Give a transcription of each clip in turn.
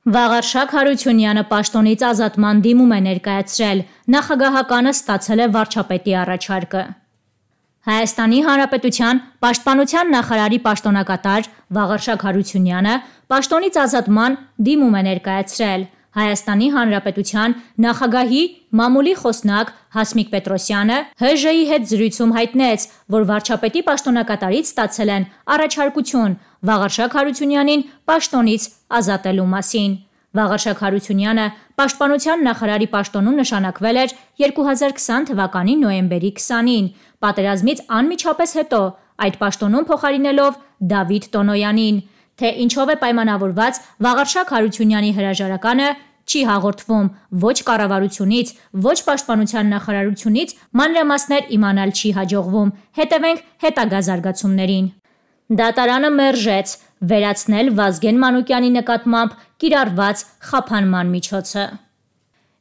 Վաղարշակ Հարությունյանը պաշտոնից ազատման դիմում է ներկայացրել, նախագահականը ստացել է վարչապետի առաջարկը։ Հայաստանի Հանրապետության Պաշտպանության նախարարի պաշտոնակատար Վաղարշակ Հարությունյանը պաշտոնից ազատման դիմում է ներկայացրել։ Հայաստանի Հանրապետության նախագահի մամուլի խոսնակ Հասմիկ Պետրոսյանը ՀԺ-ի հետ զրույցում հայտնեց, որ վարչապետի պաշտոնակատարից ստացել են առաջարկություն Վաղարշակ Հարությունյանին պաշտոնից ազատելու մասին։ Վաղարշակ Հարությունյանը Պաշտպանության նախարարի պաշտոնում նշանակվել էր 2020 թվականի նոյեմբերի 20-ին, պատերազմից անմիջապես հետո այդ պաշտոնում փոխարինելով Դավիթ Տոնոյանին։ Թե ինչով է պայմանավորված Վաղարշակ Հարությունյանի հրաժարականը, չի հաղորդվում ոչ կառավարությունից, ոչ Պաշտպանության նախարարությունից, մանրամասներ իմանալ չի հաջողվում։ Հետևենք հետագա զարգացումներին։ Դատարանը մերժեց վերացնել Վազգեն Մանուկյանի նկատմամբ կիրառված խափանման միջոցը։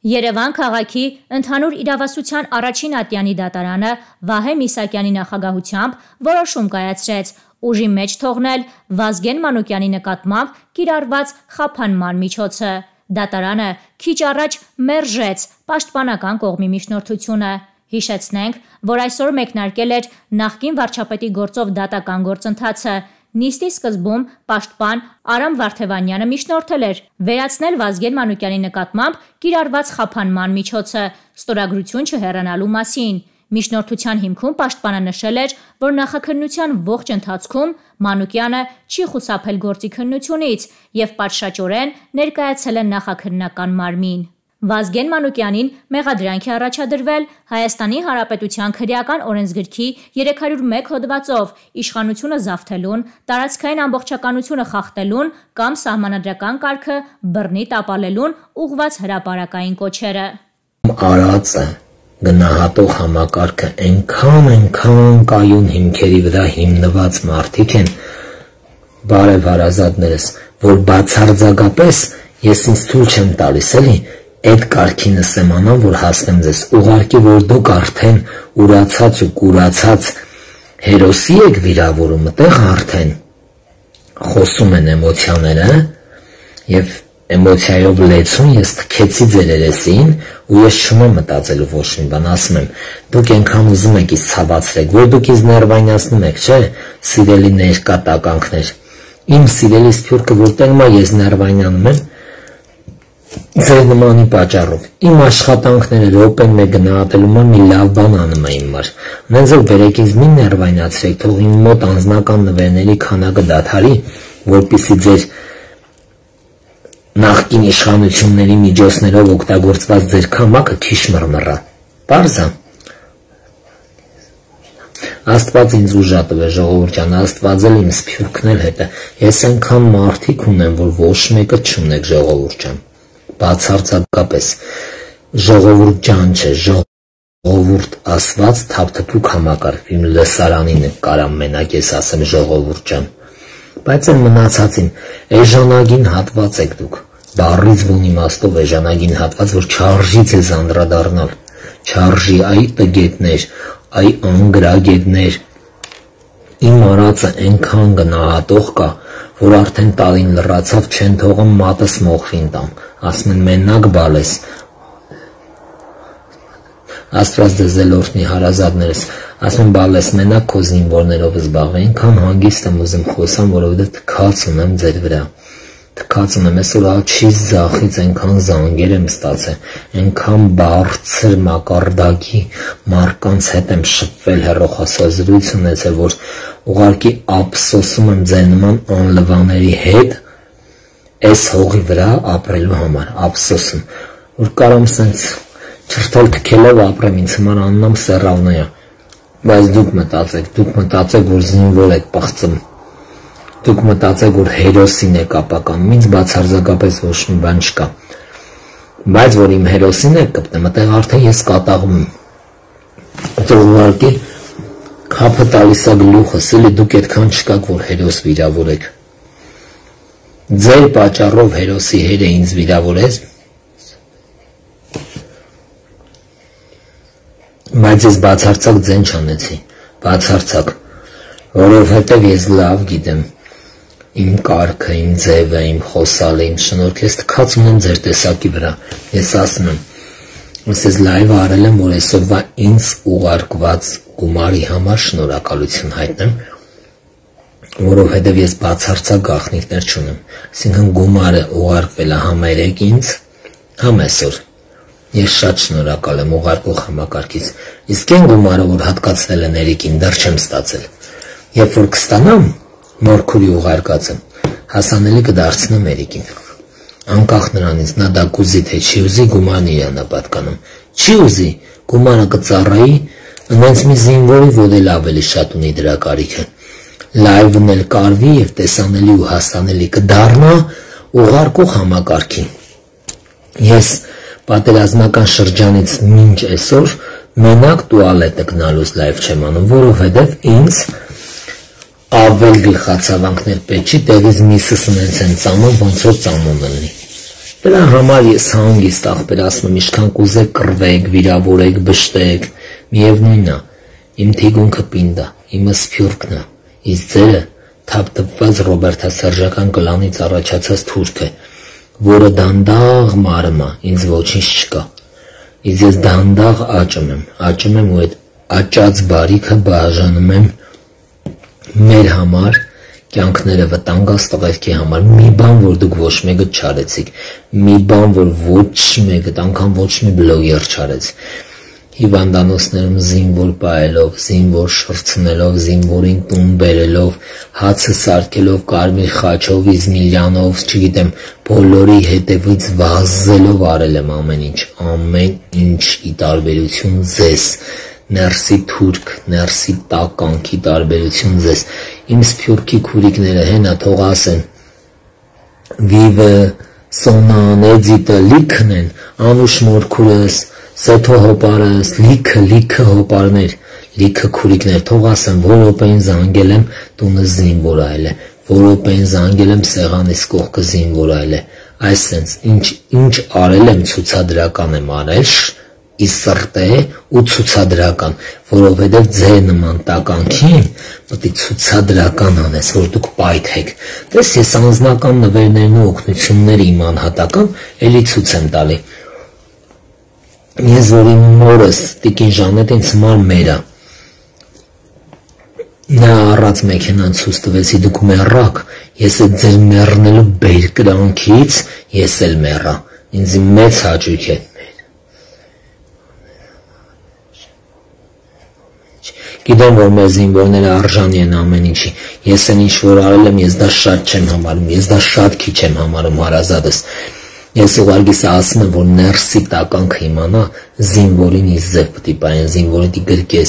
Երևան քաղաքի ընդհանուր իրավասության առաջին ատյանի դատարանը Վահե Միսակյանի նախագահությամբ որոշում կայացրեց ուժի մեջ թողնել Վազգեն Մանուկյանի նկատմամբ կիրառված խափանման միջոցը։ Դատարանը քիչ առաջ մերժեց պաշտպանական կողմի միջնորդությունը։ Հիշեցնենք, որ այսօր մեկնարկել էր նախկին վարչապետի գործով դատական գործընթացը։ Նիստի սկզբում պաշտպան Արամ Վարդևանյանը միջնորդել էր վերացնել Վազգեն Մանուկյանի նկատմամբ կիրառված խափանման միջոցը ստորագրություն չհեռանալու մասին։ Միջնորդության հիմքում պաշտպանը նշել էր, որ նախաքննության ողջ ընթացքում Մանուկյանը չի խուսափել գործի քննությունից եւ պատշաճորեն ներկայացել է նախաքննական մարմին։ Վազգեն Մանուկյանին մեղադրանք է առաջադրվել Հայաստանի Հանրապետության քրեական օրենսգրքի 301 հոդվածով իշխանությունը զավթելուն, տարածքային ամբողջականությունը խախտելուն կամ սահմանադրական կարգը բռնի տապալելուն ուղղված հրապարակային կոչերը։ Արածը գնահատող համակարգը այնքան կայուն հիմքերի վրա հիմնված մարդիկ են, բարև հարազատներս, որ բացարձակապես ես ինձ թույլ չեմ տալիս էլի այդ կարգի նսեմանան, որ հասնեմ ձեզ, ուղարկի, որ դուք արդեն ուրացած ու կուրացած հերոսի եք վիրավորում, այդտեղ արդեն խոսում են էմոցիաները եւ էմոցիայով լեցուն ես թքեցի ձեր երեսին ու ես չունեմ մտածելու ոչ մի բան, ասում եմ, դուք այնքան ուզում եք ինձ ցավացրեք, որ դուք ինձ ներվայնացնում եք, չէ, սիրելի ներկատականքներ, իմ սիրելի սփյուռքը որտեղ մա ես ներվայնանում եմ, ձեր նմանի պատճառով, իմ աշխատանքները րոպեն մեկ գնահատելու մի լավ բան անում է իմ մար, նենց որ բերեք ինձ մի ներվայնացրեք, թող իմ մոտ անձնական նվերների քանակը դադարի, որպեսզի ձեր նախկին իշխանությունների միջոցներով օգտագործված ձեր քամակը քիչ մռմռա, պարզ է։ Աստված ինձ ուժ տվե, ժողովուրդ ջան, Աստված էլ իմ սփյուռքն էլ հետը, ես այնքան մարդիկ ունեմ, որ ոչ մեկը չունեք, ժողովուրդ ջան, բացարձակապես, ժողովուրդ ջան չէ, ժողովուրդ ասված թափթփուկ համակարգ, իմ լսարանին կարամ մենակ ես ասեմ ժողովուրդ ջան, բայց այն մնացածին, էժանագին հատված եք դուք, բառից բուն իմաստով էժանագին հատված, որ չարժի ձեզ անդրադառնալ, չարժի այ տգետներ, այ անգրագետներ, իմ արածը այնքան գնահատող կա, որ արդեն տարին լռացավ չեն թողում մատս մոխրին տամ, ասում են մենակ բալես, Աստված ձեզ էլ օրհնի հարազատներս, ասում եմ բալես մենակ քո զինվորներով զբաղվի, այնքան հանգիստ եմ ուզում խոսամ, որովհետև թքած ունեմ ձեր վրա, թքած ունեմ, այսօր աջից ձախից այնքան զանգեր եմ ստացել, այնքան բարձր մակարդակի մարդկանց հետ եմ շփվել, հեռախոսազրույց ունեցել, որ ուղղակի ափսոսում եմ ձեր նման անլվաների հետ այս հողի վրա ապրելու համար, ափսոսում, որ կարամ սենց չրթել թքելով ապրեմ, ինձ համար աննամ սեռավնայա, բայց դուք մտածեք, որ զինվոր եք պղծում, դուք մտածեք, որ հերոսին եք ապականում, ինձ բացարձակապես ոչ մի բան չկա, բայց որ իմ հերոսին եք կպտեմ, այդտեղ արդեն ես կատաղում եմ, ուղղակի քափը տալիս է գլուխս, էլի դուք այդքան չկաք, որ հերոս վիրավորեք, ձեր պատճառով հերոսի հերը ինձ վիրավորեց, բայց ես բացարձակ ձեն չանեցի, բացարձակ, որովհետև ես լավ գիտեմ, իմ կարգը, իմ ձևը, իմ խոսալը, իմ շնորհքը, ես թքած ունեմ ձեր տեսակի վրա։ Ես ասում եմ, ես լայվը արել եմ, որ այսօրվա ինձ ուղարկված գումարի համար շնորհակալություն հայտնեմ, որովհետև ես բացարձակ գաղտնիքներ չունեմ։ Այսինքն գումարը ուղարկվել է համ երեկ ինձ, համ այսօր։ Ես շատ շնորհակալ եմ ուղարկող համակարգից։ Իսկ այն գումարը, որ հատկացվել է Ներիկին, դեռ չեմ ստացել։ Երբ որ կստանամ, մորքուրի ուղարկածը, հասանելի կդարձնեմ Երիկին։ Անկախ նրանից նա դա կուզի թե չի ուզի, գումարն իրանա պատկանում։ Չի ուզի, գումարը կծառայի, այնց մի զինվորի, որ էլ ավելի շատ ունի դրա կարիքը։ Լայվն էլ կարվի եւ տեսանելի ու հասանելի կդառնա ուղարկող համակարգին։ Ես պատերազմական շրջանից մինչ այսօր մենակ տուալետը գնալուց լայվ չեմ անում, որովհետեւ ինձ ավել գլխացավանքներ պետք չի, տեղից միսս ունենց են ծամոն, ոնց որ ծամոն լինի։ Դրա համար ես հանգիստ աղբեր ասում եմ, ինչքան կուզեք կռվեք, վիրավորեք, բշտեք, միևնույնն է, իմ թիգունքը պինդ է, իմը սփյուռքն է, իսկ ձերը թափթփված ռոբերտասերժական կլանից առաջացած թուրք է, որը դանդաղ մարում է, ինձ ոչինչ չկա։ Իսկ ես դանդաղ աճում եմ ու այդ աճած բարիքը բաժանում եմ մեր համար, կյանքները վտանգած տղերքի համար, մի բան, որ դուք ոչ մեկը չարեցիք, մի բան, որ ոչ մեկը, անգամ ոչ մի բլոգեր չարեց, հիվանդանոցներում զինվոր պահելով, զինվոր շրցնելով, զինվորին տուն բերելով, հացը սարքելով, կարմիր խաչով, Իզմիլյանով, չգիտեմ, բոլորի հետևից վազելով արել եմ ամեն ինչի տարբերություն ձեզ, ներսի թուրք, ներսի տականքի տարբերություն ձեզ, իմ սփյուռքի քուրիկները հենա թող ասեն, Վիվը, Սոնան, Էդիտը լիքն են, Անուշ մորքուրս, Սեթո հոպարս, լիքը հոպարներ, լիքը քուրիկներ, թող ասեն, որ րոպեին զանգել եմ տունը զինվոր այլ է, որ րոպեին զանգել եմ սեղանիս կողքը զինվոր այլ է, այսենց ինչ արել եմ ցուցադրական եմ արել, ի սրտե ու ցուցադրական, որովհետև ձեր նման տականքին պետք է ցուցադրական անես, որ դուք պայթեք։ Տես ես անձնական նվերներն ու օգնությունները իմ անհատական էլի ցույց եմ տալի։ Ես որ իմ մորս տիկին Ժանետին ցմար մերա։ Նա առած մեքենան ցույց տվեցի, դուք մեռաք, ես այդ ձեր մեռնելու բերկրանքից ես էլ մեռա։ Ինձ մեծ հաճույք է։ Գիտեմ, որ մեր զինվորները արժանի են ամեն ինչի, ես են ինչ որ արել եմ, ես դա շատ չեմ համարում, ես դա շատ քիչ եմ համարում հարազատս, ես ուղղակի ասում եմ, որ ներսի տականքը իմանա, զինվորին իսկ ձև պտի պայեն, զինվորին դի գրկես,